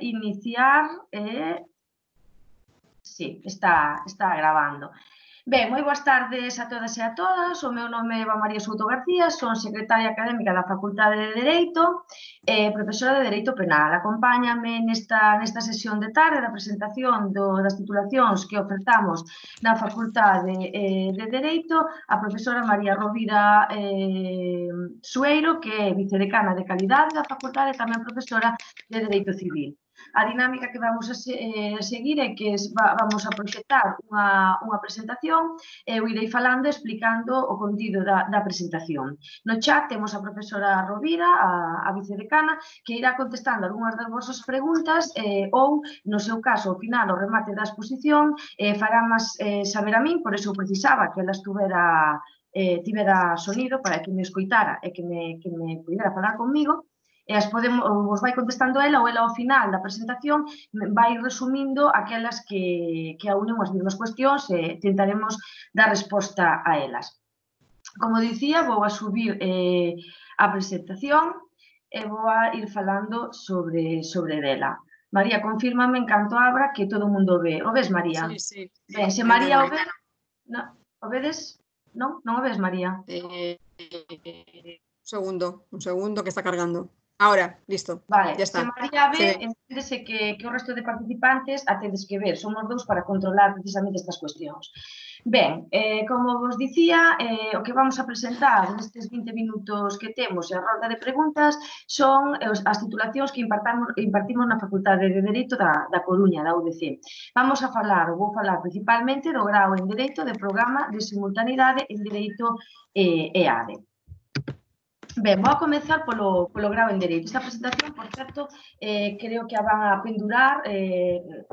iniciar. Sí, está grabando. Ben, moi boas tardes a todas e a todas. O meu nome é Eva María Souto García, son secretaria académica da Facultade de Dereito e profesora de Dereito Penal. Acompáñame nesta sesión de tarde da presentación das titulacións que ofertamos na Facultade de Dereito a profesora María Rovira Sueiro, que é vicedecana de Calidade da Facultade e tamén profesora de Dereito Civil. A dinámica que vamos a seguir é que vamos a proxectar unha presentación e eu irei falando e explicando o contido da presentación. No chat temos a profesora Rovira, a vicedecana, que irá contestando algunhas das vosas preguntas ou, no seu caso, ao final, ao remate da exposición, fará máis saber a min, por eso precisaba que ela tivera sonido para que me escoitara e que me pudera falar conmigo. E vos vai contestando ela ou ela ao final da presentación vai resumindo aquelas que aunen as mesmas cuestións e tentaremos dar resposta a elas. Como dicía, vou a subir a presentación e vou a ir falando sobre dela. María, confírmame en canto abra que todo o mundo ve. O ves, María? Sí, sí. Ben, se María o ve... O vedes? Non? Non o ves, María? Un segundo que está cargando. Ahora, listo. Vale, ya está. Se María ve, enténdese que o resto de participantes a tedes que ver. Somos dous para controlar precisamente estas cuestións. Ben, como vos dicía, o que vamos a presentar nestes 20 minutos que temos e a rolda de preguntas son as titulacións que impartimos na Facultade de Dereito da Coruña, da UDC. Vou falar principalmente do grao en Dereito de Programa de Simultaneidade en Dereito EADE. Ben, vou a comezar polo grao en Dereito. Esta presentación, por certo, creo que a van a pendurar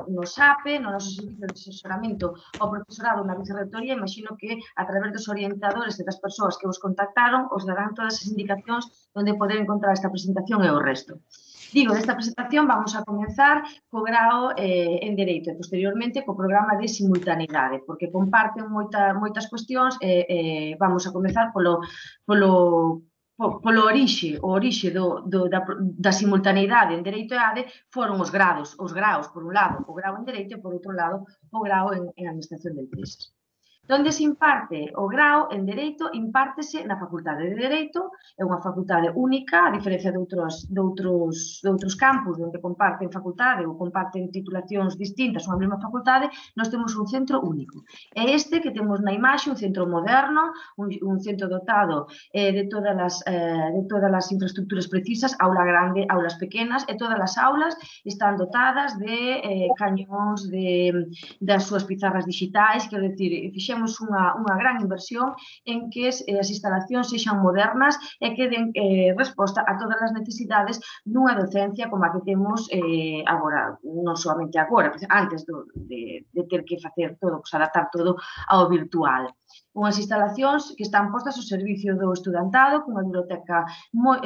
no SAPE, no noso servicio de asesoramento ao profesorado na vicerrectoría. Imagino que a través dos orientadores e das persoas que vos contactaron os darán todas as indicacións onde poder encontrar esta presentación e o resto. Digo, desta presentación vamos a comenzar co grao en Dereito e posteriormente co programa de simultaneidade, porque comparten moitas cuestións e vamos a comenzar polo orixe da simultaneidade en Dereito EADE foron os graos, por un lado, o grao en Dereito e, por outro lado, o grao en Administración de Empresas. Donde se imparte o grao en Dereito, impártese na Facultade de Dereito, é unha facultade única, a diferencia de outros campus onde comparten facultade ou comparten titulacións distintas unha mesma facultade, nós temos un centro único. É este que temos na imaxe, un centro moderno, un centro dotado de todas as infraestructuras precisas, aula grande, aulas pequenas, e todas as aulas están dotadas de cañóns, das súas pizarras digitais, quero dicir, fixemos unha gran inversión en que as instalacións sexan modernas e que den resposta a todas as necesidades dunha docencia como a que temos agora, non somente agora, antes de ter que facer todo, adaptar todo ao virtual. Unhas instalacións que están postas ao servicio do estudantado, cunha biblioteca moi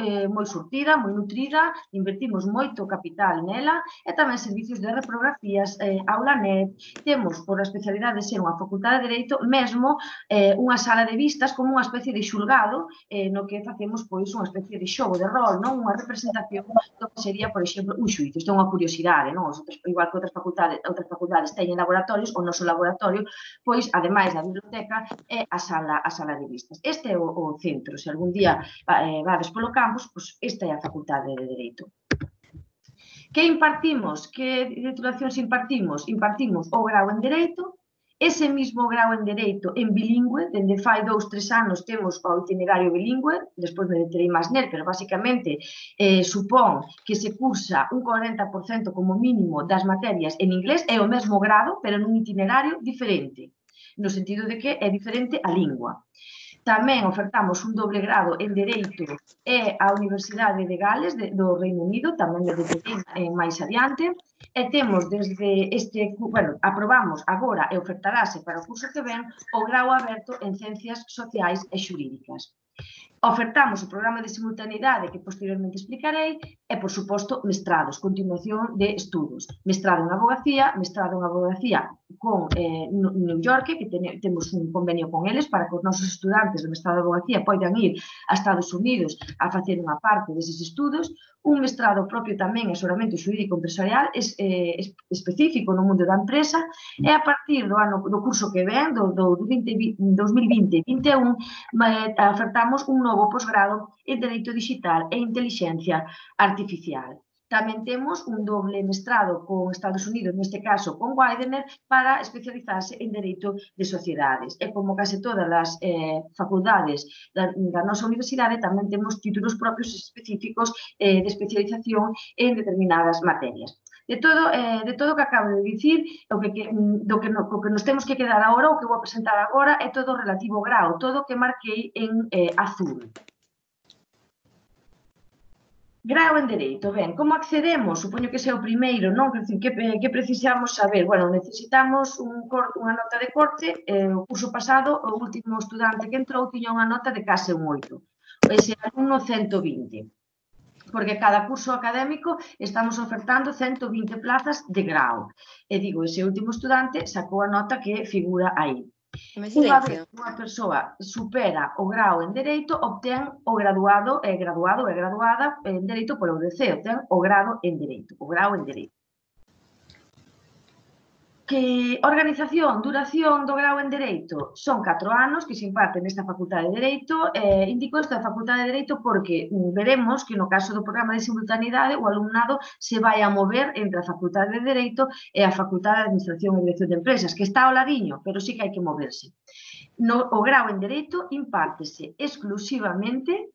surtida, moi nutrida, invertimos moito capital nela, e tamén servicios de reprografías, aula net, temos, por a especialidade de ser unha facultade de Dereito, mesmo unha sala de vistas como unha especie de xulgado no que facemos unha especie de xogo de rol, unha representación do que sería, por exemplo, un xuízo. Isto é unha curiosidade, igual que outras facultades teñen laboratorios, o noso laboratorio, pois, ademais da biblioteca, é a sala de vistas. Este é o centro. Se algún día vades polo campus, pois esta é a Facultade de Dereito. Que impartimos? Que titulacións impartimos? Impartimos o grao en Dereito, ese mismo grao en Dereito en bilingüe, dende fai 2-3 anos temos o itinerario bilingüe, despois me deterei máis nel, pero basicamente supón que se cursa un 40% como mínimo das materias en inglés, é o mesmo grado, pero nun itinerario diferente, no sentido de que é diferente a lingua. Tamén ofertamos un doble grado en Dereito e a Universidade de Gales do Reino Unido, tamén me deterei máis adiante, e temos desde aprobamos agora e ofertarase para o curso que ven o grao aberto en Ciencias Sociais e Xurídicas. Ofertamos o programa de simultaneidade que posteriormente explicarei e, por suposto, mestrados, continuación de estudos. Mestrado en abogacía con New York, que temos un convenio con eles para que os nosos estudantes do mestrado de abogacía poidan ir a Estados Unidos a facer unha parte deses estudos, un mestrado propio tamén en asesoramento xurídico empresarial específico no mundo da empresa, e a partir do curso que ven, do 2020-2021, ofertamos un novo posgrado en Dereito Digital e Intelixencia Artificial. Tamén temos un doble mestrado con Estados Unidos, neste caso con Widener, para especializarse en Dereito de Sociedades. E como case todas as facultades da nosa universidade, tamén temos títulos propios específicos de especialización en determinadas materias. De todo o que acabo de dicir, o que nos temos que quedar agora, o que vou presentar agora, é todo relativo ao grau, todo o que marquei en azul. Grau en Dereito. Ben, como accedemos? Supoño que ese é o primeiro, non? Que precisamos saber? Bueno, necesitamos unha nota de corte. O curso pasado, o último estudante que entrou tiña unha nota de case un 8. Ese alumno 120. Porque cada curso académico estamos ofertando 120 plazas de grau. E digo, ese último estudante sacou a nota que figura aí. Unha vez que unha persoa supera o grau en Dereito, obtén o graduado e graduada en Dereito polo UDC, obtén o grado en Dereito, o grau en Dereito. Que organización, duración do grau en Dereito son 4 anos que se imparte nesta Facultade de Dereito. Indico isto da Facultade de Dereito porque veremos que no caso do programa de simultaneidade o alumnado se vai a mover entre a Facultade de Dereito e a Facultade de Administración e Dirección de Empresas, que está ao ladiño, pero sí que hai que moverse. O grau en Dereito impártese exclusivamente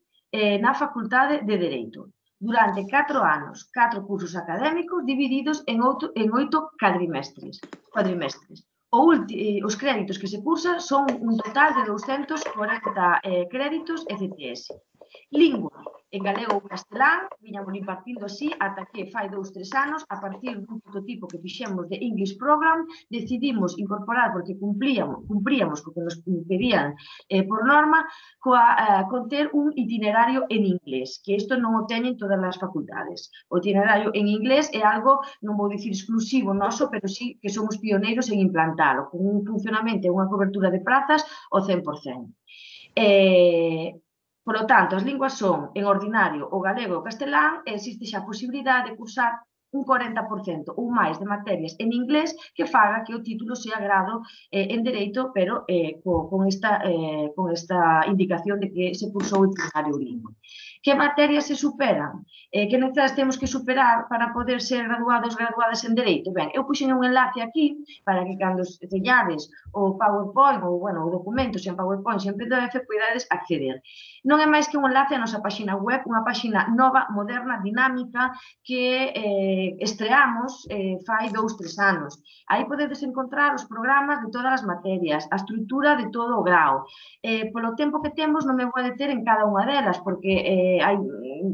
na Facultade de Dereito durante 4 anos, 4 cursos académicos divididos en 8 cuadrimestres. Os créditos que se cursan son un total de 240 créditos ECTS. Lingua, en galego ou castelán, viñamos impartindo así ata que fai 2-3 anos, a partir dun prototipo que fixemos de English Program, decidimos incorporar, porque cumpríamos co que nos pedían por norma, con ter un itinerario en inglés, que isto non o teñen todas as facultades. O itinerario en inglés é algo, non vou dicir exclusivo noso, pero sí que somos pioneiros en implantalo, con un funcionamento e unha cobertura de prazas ao 100%. Por lo tanto, as linguas son, en ordinario, o galego e o castelán, e existe xa a posibilidade de cursar un 40% ou máis de materias en inglés que faga que o título sea grado en Dereito, pero con esta indicación de que se cursou o itinerario bilingüe. Que materias se superan? Que necesarias temos que superar para poder ser graduados, graduadas en Dereito? Ben, eu puxen un enlace aquí para que cando teñades o PowerPoint ou, bueno, o documento, sen PowerPoint, sen PDF, podades acceder. Non é máis que un enlace á nosa páxina web, unha páxina nova, moderna, dinámica, que estreamos fai 2-3 anos. Aí podedes encontrar os programas de todas as materias, a estrutura de todo o grau. Polo tempo que temos non me vou deter en cada unha delas, porque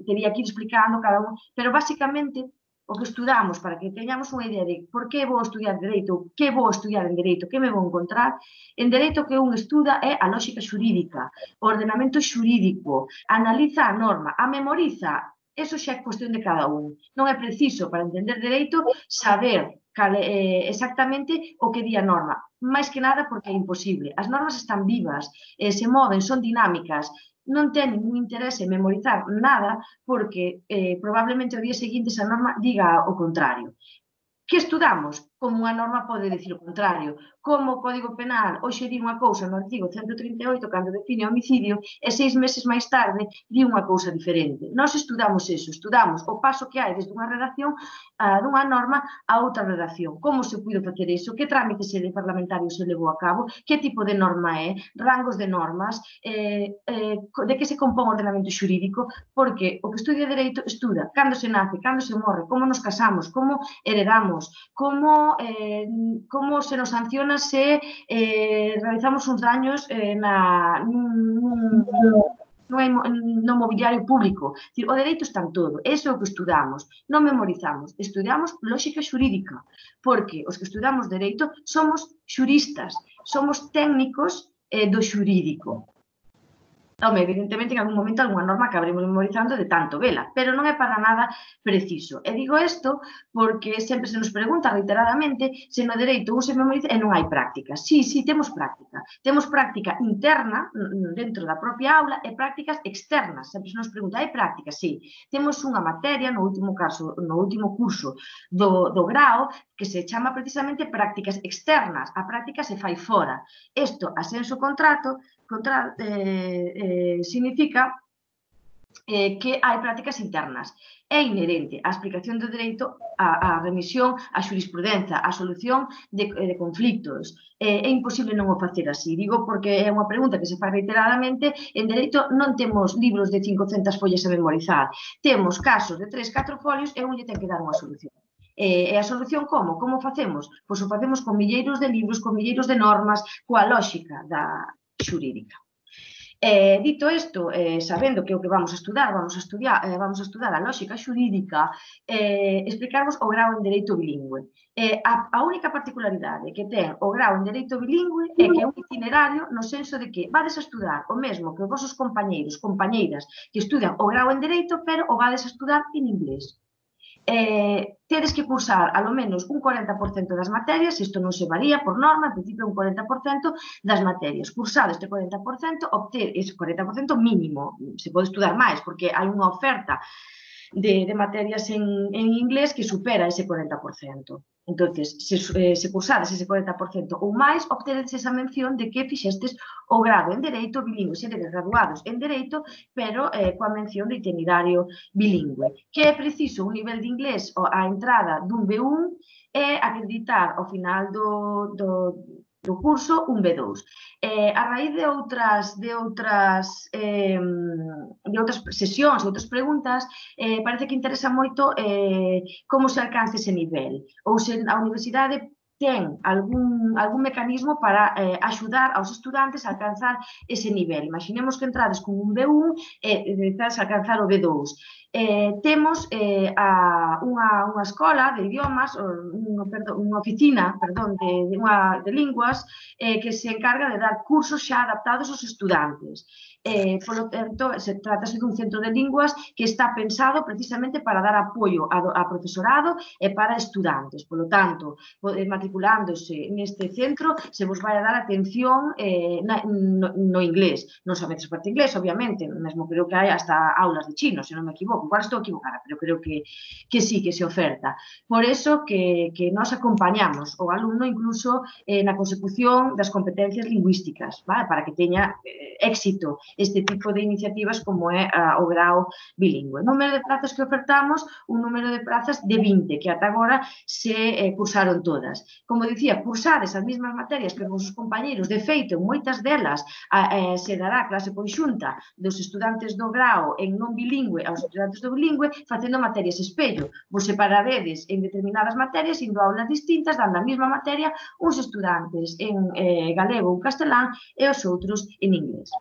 teria que ir explicando cada un, pero basicamente o que estudamos, para que teñamos unha idea de por que vou estudiar Dereito, que vou estudiar en Dereito, que me vou encontrar, en Dereito que un estuda é a lógica xurídica, o ordenamento xurídico, analiza a norma, a memoriza. Eso xa é cuestión de cada un. Non é preciso, para entender Dereito, saber exactamente o que di a norma. Mais que nada porque é imposible. As normas están vivas, se moven, son dinámicas. Non ten ningún interese memorizar nada porque probablemente o día seguinte esa norma diga o contrario. Que estudamos? Como unha norma pode dicir o contrario. Como o Código Penal hoxe di unha cousa no artigo 138 cando define o homicidio e 6 meses máis tarde di unha cousa diferente. Nós estudamos eso, estudamos o paso que hai desde unha redacción dunha norma a outra redacción. Como se puido facer iso? Que trámite parlamentario se levou a cabo? Que tipo de norma é? Rangos de normas? De que se compón o ordenamento xurídico? Porque o que estudia Dereito estuda cando se nace, cando se morre, como nos casamos, como heredamos, como se nos sanciona se realizamos uns daños no mobiliario público. O dereito está en todo, eso é o que estudamos, non memorizamos, estudamos lógica xurídica, porque os que estudamos dereito somos xuristas, somos técnicos do xurídico. Home, evidentemente, en algún momento, alguna norma acabaremos memorizando de tanto vela, pero non é para nada preciso. E digo isto porque sempre se nos pregunta reiteradamente se no dereito un se memoriza e non hai práctica. Sí, temos práctica. Temos práctica interna dentro da propia aula e prácticas externas. Sempre se nos pregunta, hai práctica? Sí. Temos unha materia, no último curso do grao, que se chama precisamente prácticas externas. A práctica se fai fora. Isto, asenso contrato, significa que hai prácticas internas. É inherente á explicación do dereito, á remisión, á xurisprudencia, á solución de conflictos. É imposible non o facer así. Digo porque é unha pregunta que se fai reiteradamente. En dereito non temos libros de 500 follas a memorizar. Temos casos de 3-4 folios e un lle ten que dar unha solución. E a solución como? Como facemos? Pois o facemos con milleiros de libros, con milleiros de normas, coa lógica da xurídica. Dito isto, sabendo que o que vamos a estudar a lógica xurídica, explicarvos o grao en Dereito Bilingüe. A única particularidade que ten o grao en Dereito Bilingüe é que é un itinerario no senso de que vades a estudar o mesmo que os vosos compañeiros, compañeiras que estudan o grao en Dereito, pero o vades a estudar en inglés. Tedes que cursar alo menos un 40% das materias, isto non se varía por norma, en principio un 40% das materias. Cursado este 40%, obter ese 40% mínimo, se pode estudar máis, porque hai unha oferta de materias en inglés que supera ese 40%. Entonces, se cursades ese 40% ou máis, obtedes esa mención de que fixestes o grado en Dereito Bilingüe, sedes graduados en Dereito, pero coa mención de itinerario bilingüe. Que é preciso un nivel de inglés á entrada dun B1 e acreditar ao final do curso un B2. A raíz de outras sesións, de outras preguntas, parece que interesa moito como se alcanza ese nivel, ou se a universidade ten algún mecanismo para axudar aos estudantes a alcanzar ese nivel. Imaginemos que entrades con un B1 e necesitas alcanzar o B2. Temos unha escola de idiomas, unha oficina, de linguas, que se encarga de dar cursos xa adaptados aos estudantes. Polo tanto, se trátase dun centro de linguas que está pensado precisamente para dar apoio a profesorado e para estudantes. Polo tanto, matriculándose neste centro, se vos vai a dar atención no inglés. Non sabedes parte inglés, obviamente, mesmo creo que hai hasta aulas de chino, se non me equivoco. Igual estou equivocada, pero creo que sí, que se oferta. Por eso que nós acompañamos o alumno incluso na consecución das competencias lingüísticas, para que teña éxito este tipo de iniciativas como é o grao bilingüe. Número de prazas que ofertamos, un número de prazas de 20, que ata agora se cursaron todas. Como dicía, cursades as mesmas materias que os vosos compañeiros, de feito, moitas delas se dará clase conxunta dos estudantes do grao en non bilingüe aos estudantes do bilingüe, facendo materias espello. Vos separaredes en determinadas materias, indo a aulas distintas, dando a mesma materia, uns estudantes en galego ou castelán e os outros en inglés.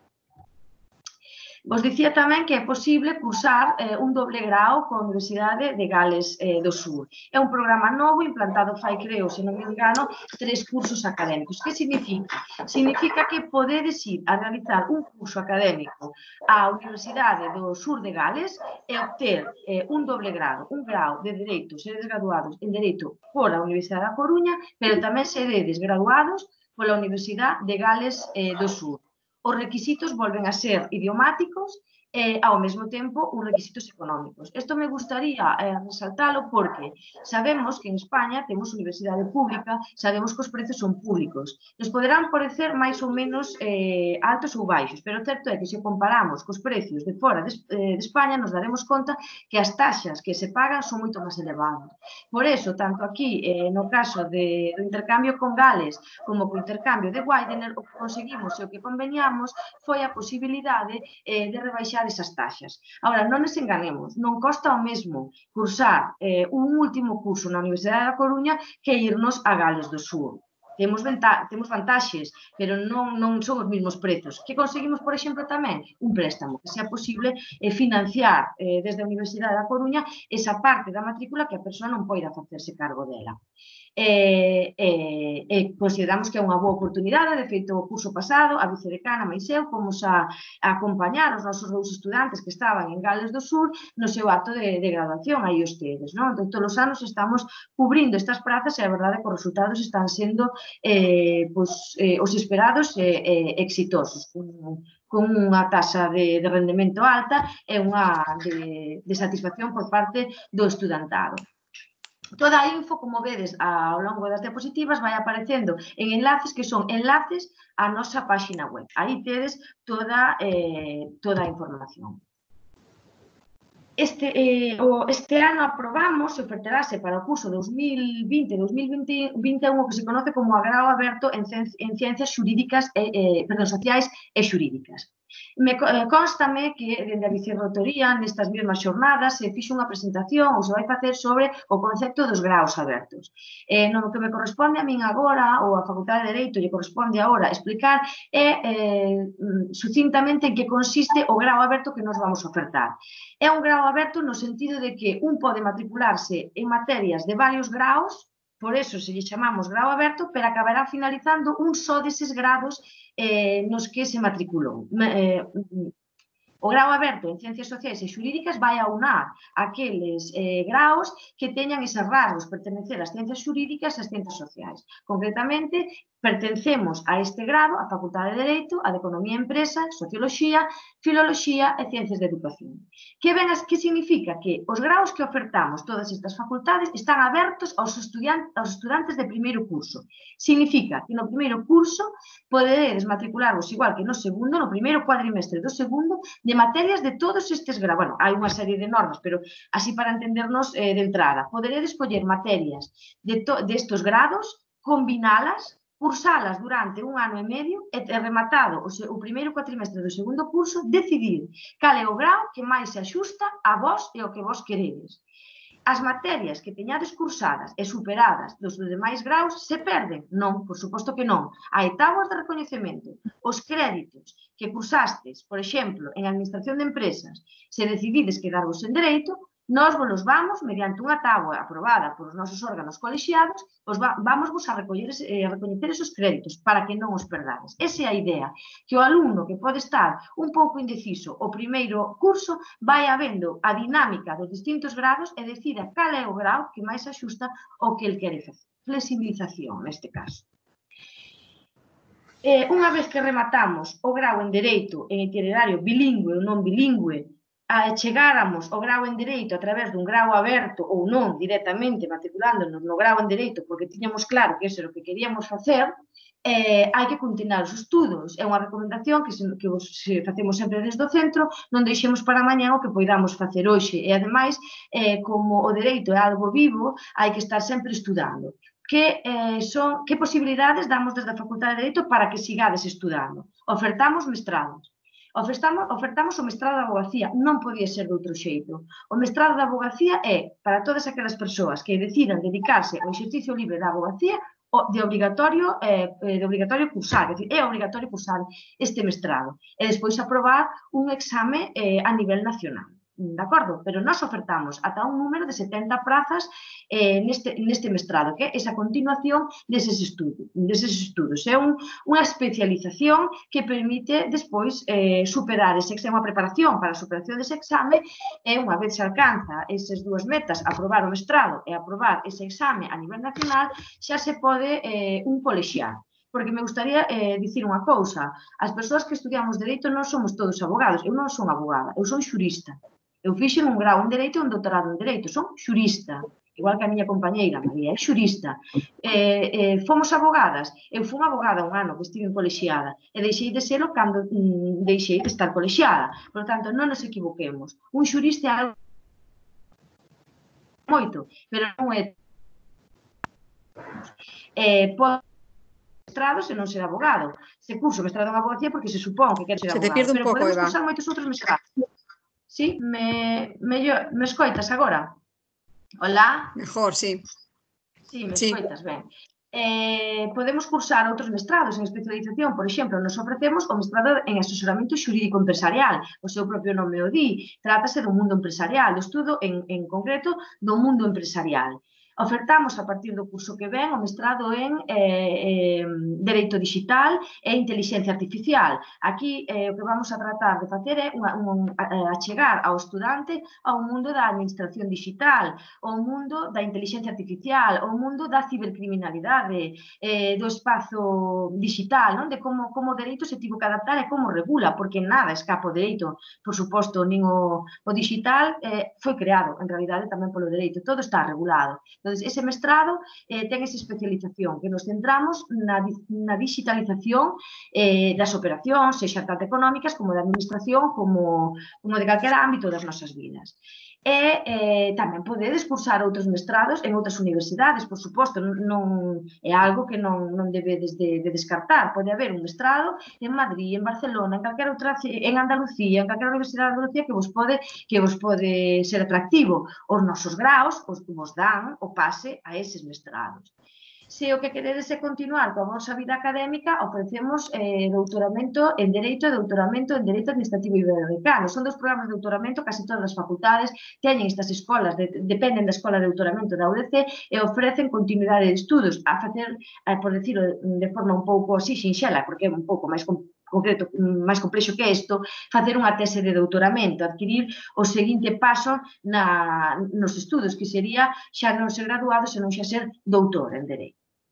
Vos dicía tamén que é posible cursar un doble grao coa Universidade de Gales do Sur. É un programa novo implantado fai, creo, se non me engano, 3 cursos académicos. Que significa? Significa que podedes ir a realizar un curso académico á Universidade do Sur de Gales e obter un doble grado, un grao de Dereito, seredes graduados en Dereito pola Universidade da Coruña, pero tamén seredes graduados pola Universidade de Gales do Sur. Os requisitos volven a ser idiomáticos e, ao mesmo tempo, os requisitos económicos. Isto me gustaría resaltalo porque sabemos que en España temos universidade pública, sabemos que os prezos son públicos. Nos poderán parecer máis ou menos altos ou baixos, pero o certo é que se comparamos cos precios de fora de España nos daremos conta que as taxas que se pagan son moito máis elevadas. Por eso, tanto aquí, no caso do intercambio con Gales como co intercambio de Widener, o que conseguimos e o que conveniamos foi a posibilidade de rebaixar esas taxas. Agora, non nos enganemos, non costa o mesmo cursar un último curso na Universidade da Coruña que irnos a Gales do Sur. temos vantaxes, pero non son os mesmos prezos. Que conseguimos, por exemplo, tamén un préstamo, que sea posible financiar desde a Universidade da Coruña esa parte da matrícula que a persoa non poida facerse cargo dela. Consideramos que é unha boa oportunidade. De feito, o curso pasado, a vicedecana máis eu fomos a acompañar os nosos 2 estudantes que estaban en Gales do Sur no seu acto de graduación, aí os tedes, non? Entón, todos os anos estamos cubrindo estas prazas e a verdade é que os resultados están sendo os esperados exitosos, con unha taxa de rendemento alta e unha de satisfacción por parte do estudantado. Toda a info, como vedes ao longo das diapositivas, vai aparecendo en enlaces que son enlaces á nosa páxina web. Aí tedes toda a información. Este ano aprobamos e ofertarase para o curso 2020-2021 o que se conoce como Agrao Aberto en Ciencias Xurídicas, Sociais e Xurídicas. Constame que, dende a Vicerrectoría, nestas mesmas xornadas, se fixo unha presentación ou se vai facer sobre o concepto dos graos abertos. No que me corresponde a min agora, ou a Facultade de Dereito lle corresponde agora explicar, sucintamente en que consiste o grao aberto que nos vamos a ofertar. É un grao aberto no sentido de que un pode matricularse en materias de varios graos, por eso se lle chamamos grao aberto, pero acabará finalizando un só deses grados nos que se matriculou. O grao aberto en Ciencias Sociais e Xurídicas vai aunar aqueles graos que teñan eses rasgos, pertenecer ás Ciencias Xurídicas e ás Ciencias Sociais. Concretamente, pertencemos a este grado, a Facultade de Dereito, a de Economía e Empresa, Socioloxía, Filoloxía e Ciencias de Educación. Que significa? Que os graos que ofertamos todas estas facultades están abertos aos estudantes de primeiro curso. Significa que no primeiro curso poderedes matricularvos igual que no segundo, no primeiro cuadrimestre do segundo, de materias de todos estes graus. Bueno, hai unha serie de normas, pero así para entendernos de entrada. Poderedes coller materias destos grados, combinalas, cursalas durante un ano e medio e rematado o primeiro cuatrimestre do segundo curso, decidir cal é o grau que máis se axusta a vós e o que vos queredes. As materias que teñades cursadas e superadas dos demais graus se perden? Non, por suposto que non. Hai táboas de recoñecemento. Os créditos que cursastes, por exemplo, en Administración de Empresas, se decidides quedarvos en Dereito, nós vos vamos, mediante unha táboa aprobada polos nosos órganos colexiados, vamos a recoñecer esos créditos para que non os perdades. Esa é a idea, que o alumno que pode estar un pouco indeciso o primeiro curso vai habendo a dinámica dos distintos grados e decida cal é o grau que máis axusta ao que el quere facer. Flexibilización, neste caso. Unha vez que rematamos o grau en Dereito en itinerario bilingüe ou non bilingüe, chegáramos ao grau en Dereito a través dun grau aberto ou non, directamente matriculándonos no grau en Dereito porque tiñamos claro que iso era o que queríamos facer, hai que continuar os estudos. É unha recomendación que facemos sempre desde o centro, non deixemos para mañá o que poidamos facer hoxe. E, ademais, como o Dereito é algo vivo, hai que estar sempre estudando. Que posibilidades damos desde a Facultade de Dereito para que sigades estudando? Ofertamos mestrados. Ofertamos o mestrado de Avogacía, non podía ser de outro xeito. O mestrado de Avogacía é para todas aquelas persoas que decidan dedicarse ao exercicio libre da Avogacía de obligatorio cursar, é obligatorio cursar este mestrado e despois aprobar un exame a nivel nacional. De acordo? Pero nós ofertamos ata un número de 70 prazas neste mestrado, que é esa continuación deses estudos. É unha especialización que permite despois superar ese exame, unha preparación para a superación dese exame, e unha vez se alcanza esas dúas metas, aprobar o mestrado e aprobar ese exame a nivel nacional, xa se pode un colexiar. Porque me gustaría dicir unha cousa, as persoas que estudiamos Dereito non somos todos abogados, eu non son abogada, eu son xurista. Eu fixen un grau en Dereito e un doutorado en Dereito, son xurista, igual que a miña compañeira María, é xurista. Fomos abogadas, eu fui abogada un ano que estive colexiada e deixei de serlo cando deixei de estar colexiada. Por tanto, non nos equivoquemos. Un xurista é algo moito, pero non é mestrado se non ser abogado. Se curso mestrado en abogacía porque se supón que quer ser abogado. Se te pierde un pouco, Eva. Pero podemos cursar moitos outros mestrados. Sí, me escoitas agora? Hola? Mejor, sí. Sí, me escoitas ben. podemos cursar outros mestrados en especialización. Por exemplo, nos ofrecemos o mestrado en asesoramento xurídico empresarial. O seu propio nome o di. Trátase do mundo empresarial, do estudo en concreto do mundo empresarial. Ofertamos a partir do curso que ven o mestrado en Dereito Digital e Inteligencia Artificial. Aquí o que vamos a tratar de facer é achegar ao estudante ao mundo da administración digital, ao mundo da inteligencia artificial, ao mundo da cibercriminalidade, do espazo digital, non? De como o dereito se tivo que adaptar e como regula, porque nada escapa o dereito, por suposto, nin o digital foi creado, en realidade, tamén polo dereito, todo está regulado. Entón, ese mestrado ten esa especialización, que nos centramos na digitalización das operacións, sexa tanto económicas como de administración, como de calquer ámbito das nosas vidas. E tamén podedes cursar outros mestrados en outras universidades, por suposto, non é algo que non debedes de descartar. Pode haber un mestrado en Madrid, en Barcelona, en calquera outra, en Andalucía, en calquera universidade de Andalucía que vos pode ser atractivo. Os nosos graos vos dan o pase a eses mestrados. Se o que queredes é continuar coa vosa vida académica, ofrecemos doutoramento en Dereito e doutoramento en Dereito Administrativo Iberoamericano. Son dos programas de doutoramento, case todas as facultades teñen estas escolas, dependen da escola de doutoramento da UDC e ofrecen continuidade de estudos a facer, por decirlo de forma un pouco así xinxela, porque é un pouco máis concreto, máis complexo que isto, facer unha tese de doutoramento, adquirir o seguinte paso nos estudos, que sería xa non ser graduado, senón xa ser doutor en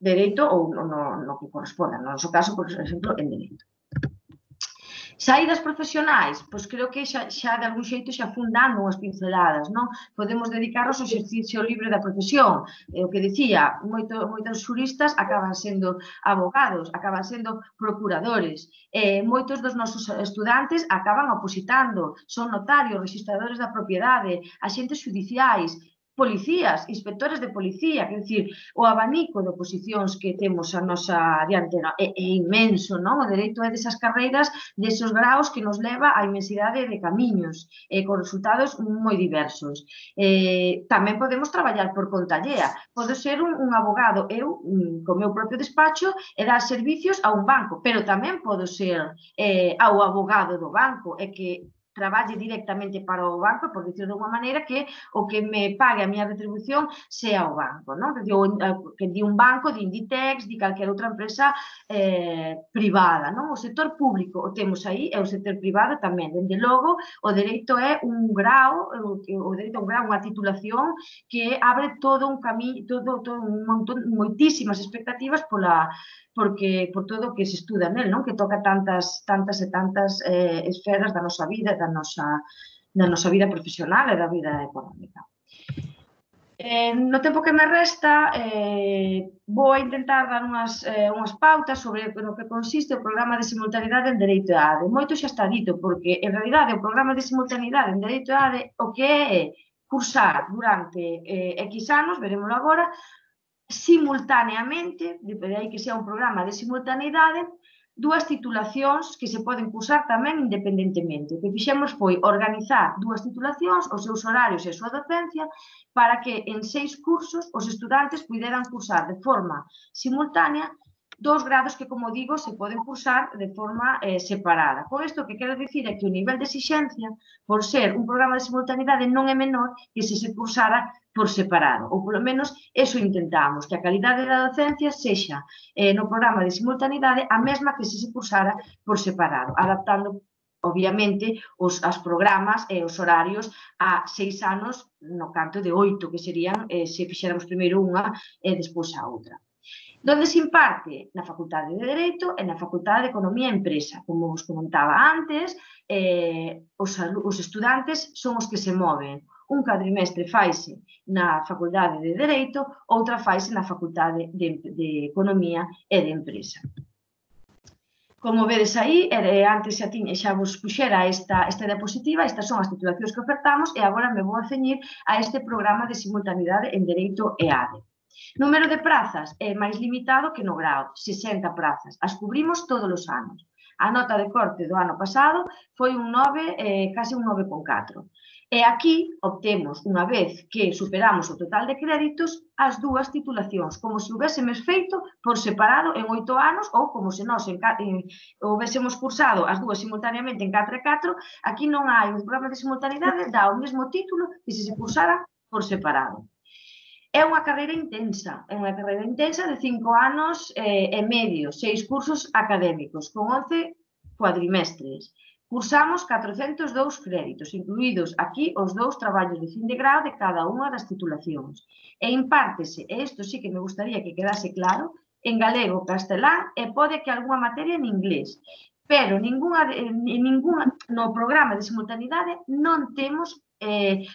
Dereito ou no que corresponda, no noso caso, por exemplo, en Dereito. Saídas profesionais, pois creo que xa de algún xeito xa fun dando unhas pinceladas, non? Podemos dedicarnos ao exercicio libre da profesión. O que dicía, moitos xuristas acaban sendo abogados, acaban sendo procuradores. Moitos dos nosos estudantes acaban opositando, son notarios, registradores da propiedade, axentes xudiciais, policías, inspectores de policía, quer dicir, o abanico de oposicións que temos a nosa diantera é inmenso, non? O dereito é desas carreiras, desos graos que nos leva a inmensidade de camiños, con resultados moi diversos. Tamén podemos traballar por conta allea. Pode ser un abogado, eu, co meu propio despacho, e dar servicios a un banco, pero tamén podo ser ao abogado do banco, e que traballe directamente para o banco, por dicir de unha maneira, que o que me pague a miña retribución sea o banco, non? Que di un banco, di Inditex, di calquera outra empresa privada, non? O sector público o temos aí, e o sector privado tamén. Dende logo, o dereito é un grao, unha titulación que abre todo un camiño, moitísimas expectativas por todo o que se estuda nel, non? Que toca tantas e tantas esferas da nosa vida, da nosa vida profesional e da vida económica. No tempo que me resta, vou intentar dar unhas pautas sobre o que consiste o programa de simultaneidade en Dereito e ADE. Moito xa está dito, porque, en realidade, o programa de simultaneidade en Dereito e ADE o que é cursar durante X anos, veremoslo agora, simultaneamente, de aí que sea un programa de simultaneidade, dúas titulacións que se poden cursar tamén independentemente. O que fixemos foi organizar dúas titulacións, os seus horarios e a súa docencia, para que en 6 cursos os estudantes puderan cursar de forma simultánea dos grados que, como digo, se poden cursar de forma separada. Con isto, o que quero dicir é que o nivel de exixencia, por ser un programa de simultaneidade, non é menor que se cursara por separado, ou polo menos eso intentamos, que a calidade da docencia sexa no programa de simultaneidade a mesma que se cursara por separado, adaptando, obviamente, os programas e os horarios a 6 anos no canto de 8, que serían se fixéramos primeiro unha e despois a outra. Donde se imparte? Na Facultade de Dereito e na Facultade de Economía e Empresa. Como vos comentaba antes, os estudantes son os que se moven. Un cuadrimestre faise na Facultade de Dereito, outra faise na Facultade de Economía e de Empresa. Como vedes aí, antes xa vos puxera esta diapositiva, estas son as titulacións que ofertamos e agora me vou a ceñir a este programa de simultaneidade en Dereito e ADE. Número de prazas é máis limitado que no grao, 60 prazas. As cubrimos todos os anos. A nota de corte do ano pasado foi un 9, case un 9,4. E aquí obtemos, unha vez que superamos o total de créditos, as dúas titulacións, como se houbésemos feito por separado en 8 anos ou como se nós houbésemos cursado as dúas simultaneamente en 4 e 4, aquí non hai un programa de simultaneidade, dá o mesmo título que se cursara por separado. É unha carreira intensa de 5 anos e medio, 6 cursos académicos, con 11 cuadrimestres. Cursamos 402 créditos, incluídos aquí os 2 traballos de fin de grau de cada unha das titulacións. E impártese, e isto sí que me gustaría que quedase claro, en galego, castelán e pode que algunha materia en inglés. Pero no programa de simultaneidade non temos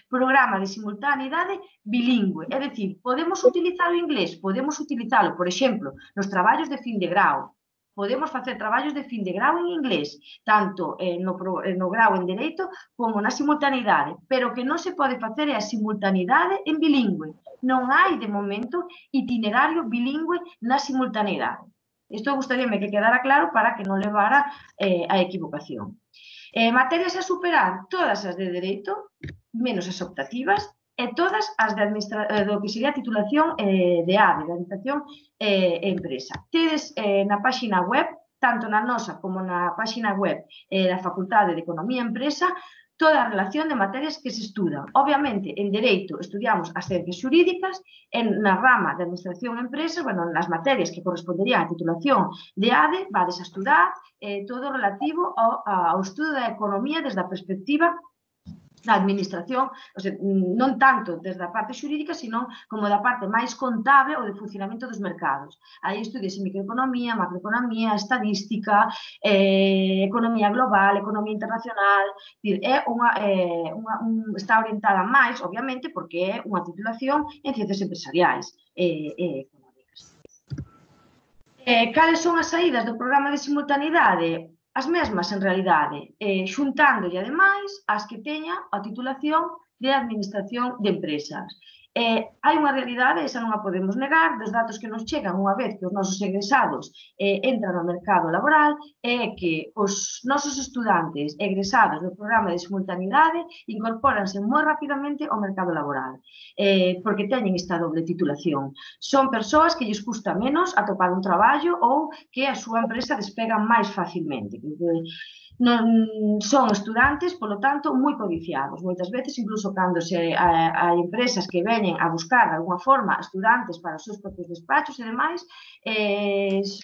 programa de simultaneidade bilingüe. É dicir, podemos utilizar o inglés, podemos utilizalo, por exemplo, nos traballos de fin de grau. Podemos facer traballos de fin de grau en inglés, tanto no grau en Dereito como na simultaneidade, pero que non se pode facer é a simultaneidade en bilingüe. Non hai, de momento, itinerario bilingüe na simultaneidade. Isto gustaríame que quedara claro para que non levara a equivocación. Materias a superar, todas as de Dereito, menos as optativas, e todas as do que sería a titulación de ADE, de Administración e Empresa. Tedes na páxina web, tanto na nosa como na páxina web da Facultade de Economía e Empresa, toda a relación de materias que se estudan. Obviamente, en Dereito estudiamos as ciencias xurídicas, na rama de Administración e Empresas, nas materias que corresponderían á titulación de ADE, vades a estudar todo relativo ao estudo da economía desde a perspectiva da administración, non tanto desde a parte xurídica, sino como da parte máis contable ou de funcionamento dos mercados. Aí estudiase microeconomía, macroeconomía, estadística, economía global, economía internacional. Está orientada máis, obviamente, porque é unha titulación en ciencias empresariais e económicas. Cales son as saídas do programa de simultaneidade? As mesmas, en realidade, xuntándolle, ademais, as que teña a titulación de Administración de Empresas. Hai unha realidade, esa non a podemos negar, dos datos que nos chegan unha vez que os nosos egresados entran no mercado laboral, é que os nosos estudantes egresados do programa de simultaneidade incorpóranse moi rapidamente ao mercado laboral, porque teñen esta doble titulación. Son persoas que lles custa menos atopar un traballo ou que a súa empresa despega máis facilmente. Son estudantes, polo tanto, moi codiciados. Moitas veces, incluso cando hai empresas que veñen a buscar, de alguna forma, estudantes para os seus propios despachos e demais,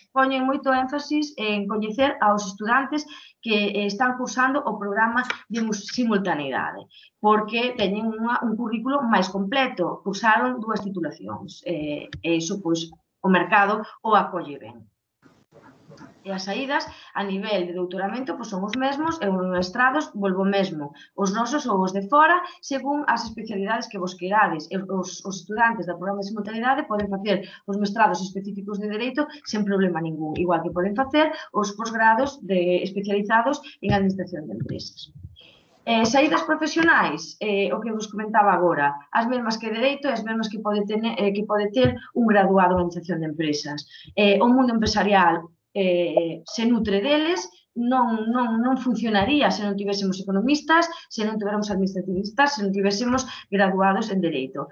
poñen moito énfasis en coñecer aos estudantes que están cursando o programa de simultaneidade, porque teñen un currículo máis completo, cursaron 2 titulacións, e iso, pois, o mercado o acolle ben. E as saídas a nivel de doutoramento son os mesmos e os mestrados volvo mesmo, os nosos ou os de fora, según as especialidades que vos querades. Os estudantes do programa de simultaneidade poden facer os mestrados específicos de Dereito sen problema ningún, igual que poden facer os posgrados especializados en Administración de Empresas. Saídas profesionais, o que vos comentaba agora, as mesmas que Dereito e as mesmas que pode ter un graduado en Administración de Empresas. O mundo empresarial se nutre deles, non funcionaría se non tivésemos economistas, se non tivéramos administrativistas, se non tivésemos graduados en Dereito.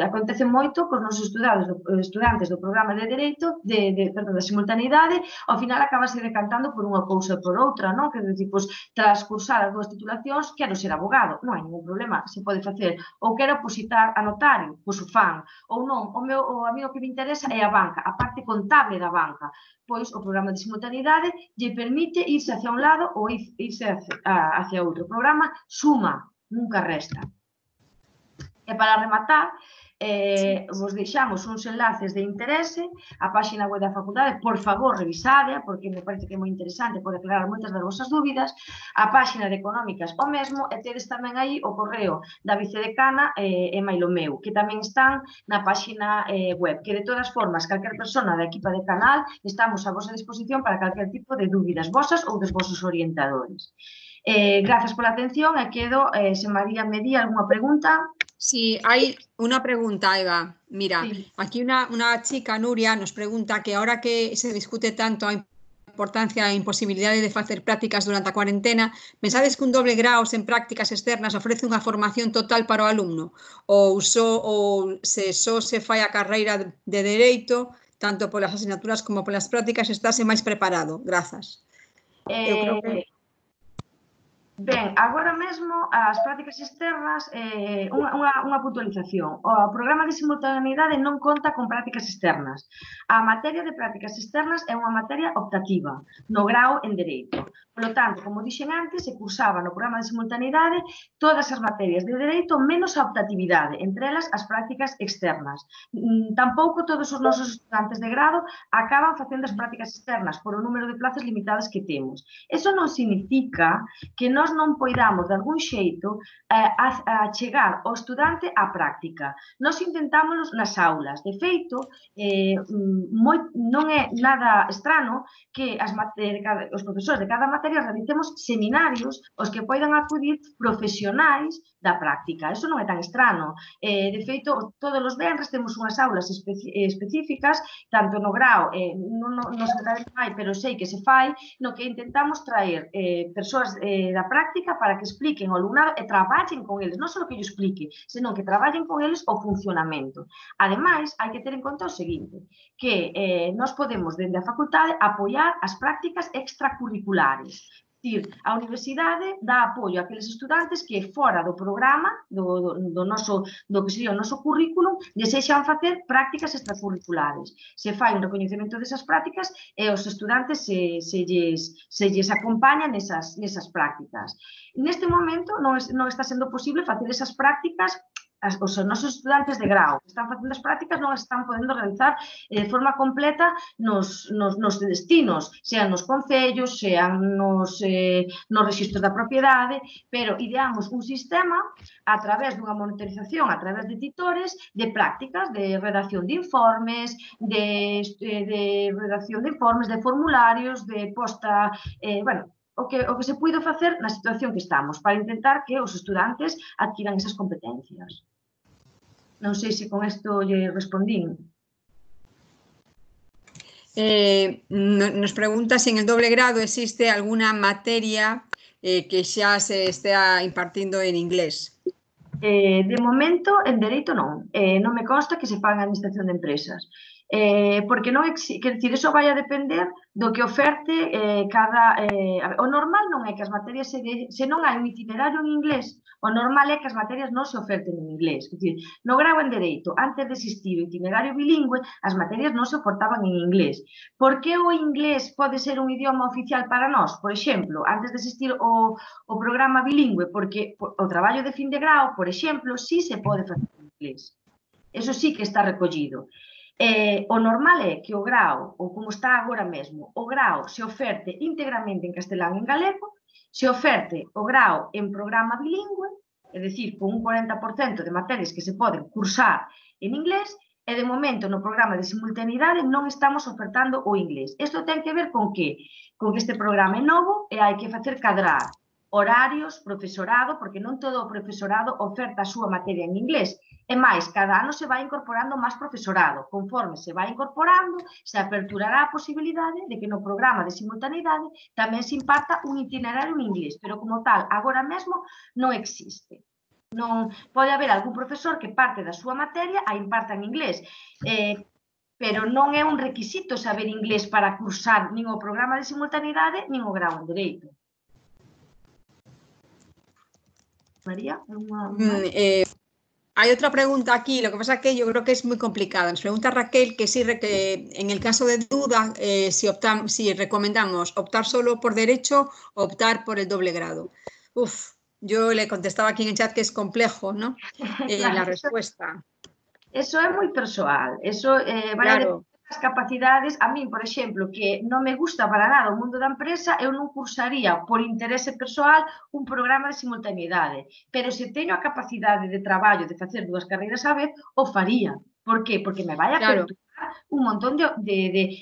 Acontece moito cos nosos estudantes do programa de Dereito, da simultaneidade, ao final acabase decantando por unha cousa ou por outra, non? Que decir, tras cursar as 2 titulacións, quero ser abogado, non hai ningún problema, se pode facer. Ou quero opositar a notario, pois o fan. Ou non, a mí o que me interesa é a banca, a parte contable da banca. Pois o programa de simultaneidade lle permite irse hacia un lado ou irse hacia outro. O programa suma, nunca resta. E para rematar, vos deixamos uns enlaces de interese, a páxina web da facultade, por favor, revisadea, porque me parece que é moi interesante, pode aclarar moitas das vosas dúbidas, a páxina de Económicas o mesmo, e tedes tamén aí o correo da vicedecana e mailo meu, que tamén están na páxina web, que de todas formas, calquer persona da equipa de canal, estamos a vosa disposición para calquer tipo de dúbidas vosas ou dos vosos orientadores. Grazas pola atención e quedo, se María me di algunha pregunta. Sí, hay una pregunta, Eva. Mira, sí. Aquí una chica, Nuria, nos pregunta que ahora que se discute tanto importancia e imposibilidade de facer prácticas durante a cuarentena, pensades que un doble grao sen prácticas externas ofrece unha formación total para o alumno? Ou se só se fai a carreira de Dereito, tanto polas asignaturas como polas prácticas, estáse máis preparado? Grazas. Eu creo que... Ben, agora mesmo as prácticas externas, unha puntualización. O programa de simultaneidade non conta con prácticas externas. A materia de prácticas externas é unha materia optativa no grao en Dereito. Polo tanto, como dixen antes, se cursaba no programa de simultaneidade todas as materias de Dereito menos a optatividade, entre elas as prácticas externas. Tampouco todos os nosos estudantes de grado acaban facendo as prácticas externas por o número de plazas limitadas que temos. Eso non significa que nós non poidamos, de algún xeito, a chegar ao estudante á práctica. Nós intentámonos nas aulas. De feito, non é nada estrano que os profesores de cada materia realicemos seminarios aos que poidan acudir profesionais da práctica. Eso non é tan estrano. De feito, todos os venres temos unhas aulas específicas, tanto no grao, non sei se fai, pero sei que se fai, no que intentamos traer persoas da práctica para que expliquen ao alumnado e traballen con eles, non só que yo explique, senón que traballen con eles o funcionamento. Ademais, hai que ter en conta o seguinte, que nós podemos, dende a facultade, apoiar as prácticas extracurriculares. A universidade dá apoio a aqueles estudantes que fora do programa, do que sería o noso currículum, desexan facer prácticas extracurriculares. Se fai un recoñecemento desas prácticas e os estudantes se lles acompaña nesas prácticas. Neste momento non está sendo posible facer esas prácticas. Os nosos estudantes de grao que están facendo as prácticas non as están podendo realizar de forma completa nos destinos, sean nos concellos, sean nos registros da propiedade, pero ideamos un sistema a través dunha monitorización, a través de titores, de prácticas, de redacción de informes, de formularios, de posta, o que se puido facer na situación que estamos, para intentar que os estudantes adquiran esas competencias. Non sei se con isto lle respondín. Nos pregunta se en el doble grado existe alguna materia que xa se estea impartindo en inglés. De momento, en Dereito non. Non me consta que se faga en Administración de Empresas. Porque non existe, quer dicir, iso vai a depender do que oferte cada... O normal non é que as materias, se non hai un itinerario en inglés, o normal é que as materias non se oferten en inglés. Quer dicir, no grao en Dereito, antes de existir o itinerario bilingüe, as materias non se ofertaban en inglés. Por que o inglés pode ser un idioma oficial para nós? Por exemplo, antes de existir o programa bilingüe, porque o traballo de fin de grao, por exemplo, sí se pode facer en inglés. Eso sí que está recollido. O normal é que o grao, ou como está agora mesmo, o grao se oferte íntegramente en castelán e en galego, se oferte o grao en programa bilingüe, é dicir, con un 40% de materias que se poden cursar en inglés, e de momento no programa de simultaneidade non estamos ofertando o inglés. Isto ten que ver con que este programa é novo e hai que facer cadrar horarios, profesorado, porque non todo o profesorado oferta a súa materia en inglés. E máis, cada ano se vai incorporando máis profesorado. Conforme se vai incorporando, se aperturará a posibilidade de que no programa de simultaneidade tamén se imparta un itinerario en inglés, pero como tal, agora mesmo non existe. Non pode haber algún profesor que parte da súa materia a imparta en inglés, pero non é un requisito saber inglés para cursar nin o programa de simultaneidade nin o grao en Dereito. María, hay otra pregunta aquí, lo que pasa es que yo creo que es muy complicada. Nos pregunta Raquel que si en el caso de duda, si recomendamos optar solo por Derecho o optar por el doble grado. Yo le contestaba aquí en el chat que es complejo, ¿no? La respuesta. Eso é moi persoal. Eso vai a depender das capacidades. A min, por exemplo, que non me gusta para nada o mundo da empresa, eu non cursaría por interese persoal un programa de simultaneidade. Pero se teño a capacidade de traballo de facer dúas carreiras á vez, o faría. Por qué? Porque me vai a aperturar un montón de...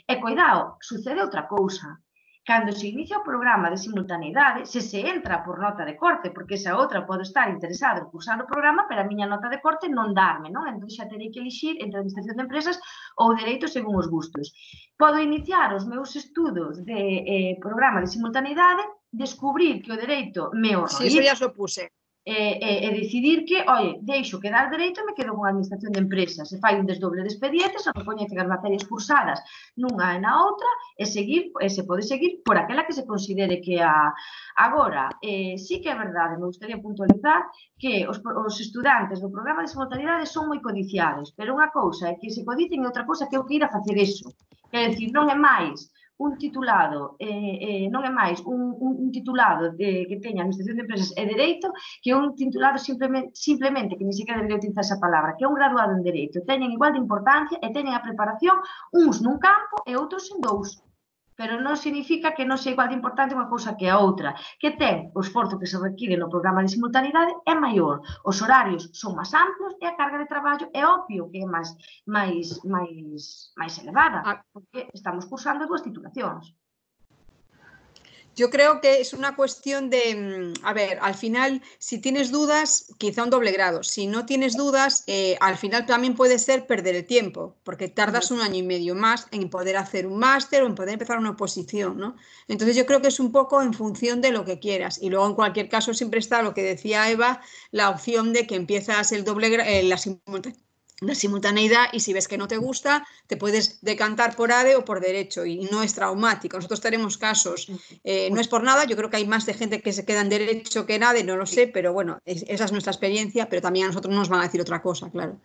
E, cuidado, sucede outra cousa. cando se inicia o programa de simultaneidade, se entra por nota de corte, porque esa outra pode estar interesada en cursar o programa, pero a miña nota de corte non darme, non? Entón xa terei que elixir entre administración de empresas ou dereito según os gustos. Podo iniciar os meus estudos de programa de simultaneidade, descubrir que o dereito me horroriza. Sí, eso ya os lo puse. E decidir que, oye, deixo quedar dereito e me quedo con a administración de empresas. Se fai un desdoble de expedientes, se recoñecen as materias cursadas nunha e na outra, e se pode seguir por aquela que se considere que a... Agora, sí que é verdade, me gustaría puntualizar que os estudantes do programa de simultaneidade son moi codiciados, pero unha cousa é que se codicen e outra cousa que eu que ir a facer eso. Quer decir, non é máis un titulado, non é máis un titulado que teña administración de empresas e dereito que un titulado simplemente, que ni siquiera debería utilizar esa palabra, que é un graduado en dereito. Teñen igual de importancia e teñen a preparación uns nun campo e outros en dous. Pero non significa que non sea igual de importante unha cousa que a outra. Que ten o esforzo que se require no programa de simultaneidade é maior. Os horarios son máis amplos e a carga de traballo é obvio que é máis elevada, porque estamos cursando dúas titulacións. Yo creo que es una cuestión de, a ver, al final, si tienes dudas, quizá un doble grado. Si no tienes dudas, al final también puede ser perder el tiempo, porque tardas un año y medio más en poder hacer un máster o en poder empezar una oposición, ¿no? Entonces yo creo que es un poco en función de lo que quieras. Y luego, en cualquier caso, siempre está lo que decía Eva, la opción de que empiezas el doble la simultaneidad, y si ves que no te gusta, te puedes decantar por ADE o por derecho, y no es traumático. Nosotros tenemos casos, no es por nada, yo creo que hay más de gente que se queda en derecho que en ADE, no lo sé, pero bueno, esa es nuestra experiencia, pero también a nosotros no nos van a decir otra cosa, claro.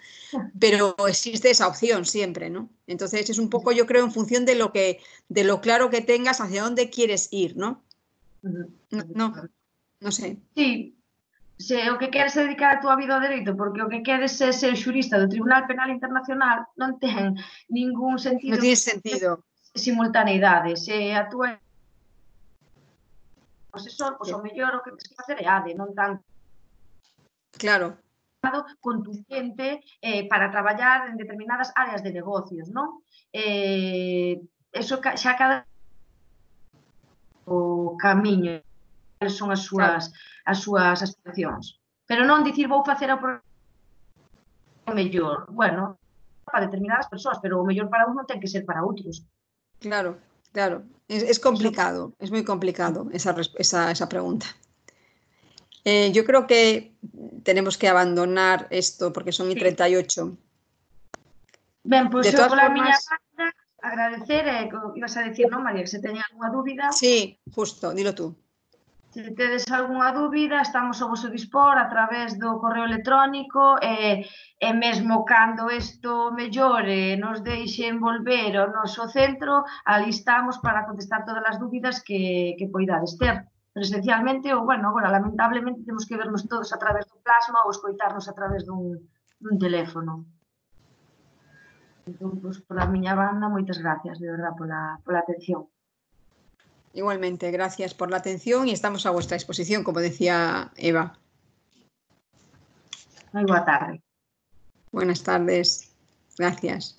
Pero existe esa opción siempre, ¿no? Entonces es un poco, yo creo, en función de lo claro que tengas hacia dónde quieres ir, ¿no? No sé. Sí. Se o que queres é dedicar a túa vida ao dereito, porque o que queres é ser xurista do Tribunal Penal Internacional, non ten ningún sentido. Non tiene sentido. Simultaneidade. Se a túa asesor, pois o mellor o que tens que facer é ADE, non tan claro contundente para traballar en determinadas áreas de negocios, non? Eso xa cada o camiño son as súas aspiracións. Pero non dicir vou facer o mellor. Bueno, para determinadas persoas, pero o mellor para un non ten que ser para outros. Claro, claro. Es complicado, es muy complicado esa pregunta. Yo creo que tenemos que abandonar esto porque son 38. Ben, pois eu pola miña parte agradecer, ibas a decir, non, María, que se teña algunha dúbida. Sí, justo, dilo tú. Se tedes algunha dúbida, estamos ao vosso dispor a través do correo electrónico e mesmo cando isto mellore nos deixen volver ao noso centro, ali estamos para contestar todas as dúbidas que poidades ter presencialmente ou, bueno, agora lamentablemente temos que vernos todos a través do plasma ou escoitarnos a través dun teléfono. Entón, pois, pola miña banda, moitas gracias, de verdad, pola atención. Igualmente, gracias por la atención y estamos a vuestra disposición, como decía Eva. Muy buena tarde. Buenas tardes. Gracias.